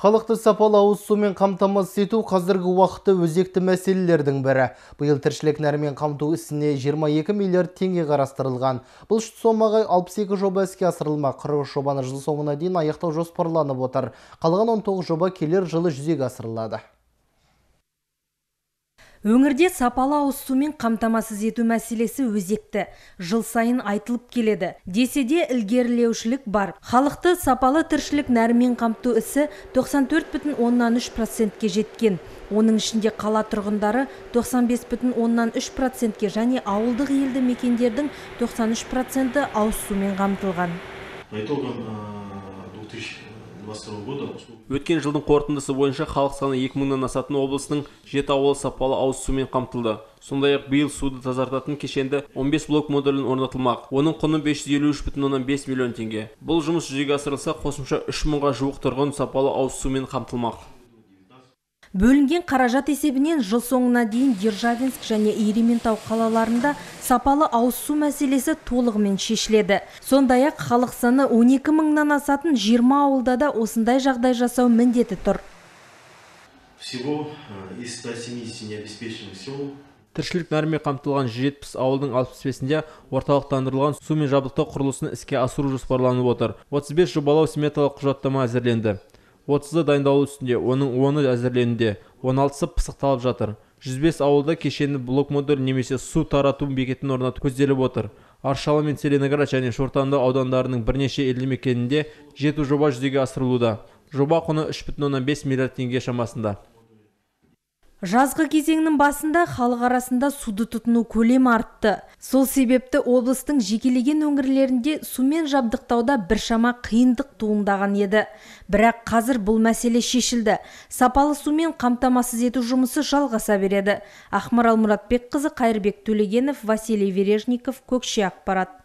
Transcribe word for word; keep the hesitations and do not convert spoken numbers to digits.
Халықты сапалы ауыз сумен қамтамасыз ету қазіргі уақытта өзекті мәселелердің бірі. Биыл тіршілік нәрмен қамту ісіне жиырма екі миллиард теңге қарастырылған. Бұл сомаға алпыс екі жоба іске асырылмақ. қырық үш жобаны жыл соңына дейін аяқтау жоспарланып отыр. Қалған он тоғыз жоба келер жылы жүзеге асырылады. Өңірде сапалы ауыз сумен қамтамасыз ету мәселесі өзекті. Жыл сайын айтылып келеді. Десе де ілгерілеушілік бар. Халықты сапалы тіршілік нәрмен қамту ісі тоқсан төрт бүтін оннан үш процентке жеткен. Оның ішінде қала тұрғындары тоқсан бес бүтін оннан үш процентке және ауылдық елді мекендердің тоқсан үш проценті ауыз сумен қамтылған. Өткен жылдың қорытындысы бойынша халық саны екі мыңнан асатын облыстың жеті ауылы сапалы ауыз сумен қамтылды. Сондай-ақ биыл суды тазартатын кешенді он бес блок модулін орнатылмақ. Оның құны бес жүз елу үш бүтін оннан бес миллион теңге. Бұл жұмыс жүзеге асырылса, қосымша үш мыңға жуық тұрғын сапалы ауыз сумен қамтылмақ. Бөлінген қаражат есебінен жыл соңына дейін Державинск және Ерейментау қалаларында сапалы ауыз су мәселесі толығымен шешіледі. Сондай-ақ халық саны он екі мыңнан асатын жиырма ауылда да осындай жағдай жасау міндеті тұр. Всего из ста семидесяти необеспеченных сел Тіршілік нәрмен қамтылған жүз жетпіс ауылдың алпыс бесінде орталықтандырылған сумен жабдықтау құрылысын іске асыру жоспарланып отыр. отыз бес жобалау сметалық құжаттама әзірленді. отызы дайындалу үстінде, оның оны әзірленуде, он алтысы пысықталып жатыр. жүз бес ауылда кешенді блок модуль немесе су тарату бекетін орнату көзделіп отыр. Аршалы мен Целиноград және Шортанды аудандарының бірнеше елді мекенінде жеті жоба жүзеге асырылуда. Жоба құны үш бүтін оннан бес миллиард теңге шамасында. Жазғы кезеңнің басында халық арасында суды тұтыну көлемі артты. Сол себепті облыстың жекелеген өңірлерінде сумен жабдықтауда біршама қиындық туындаған еді. Бірақ қазір бұл мәселе шешілді. Сапалы сумен қамтамасыз ету жұмысы жалғаса береді. Ақмарал Мұратбекқызы, Қайырбек Төлегенов, Василий Вережников, Көкше ақпарат.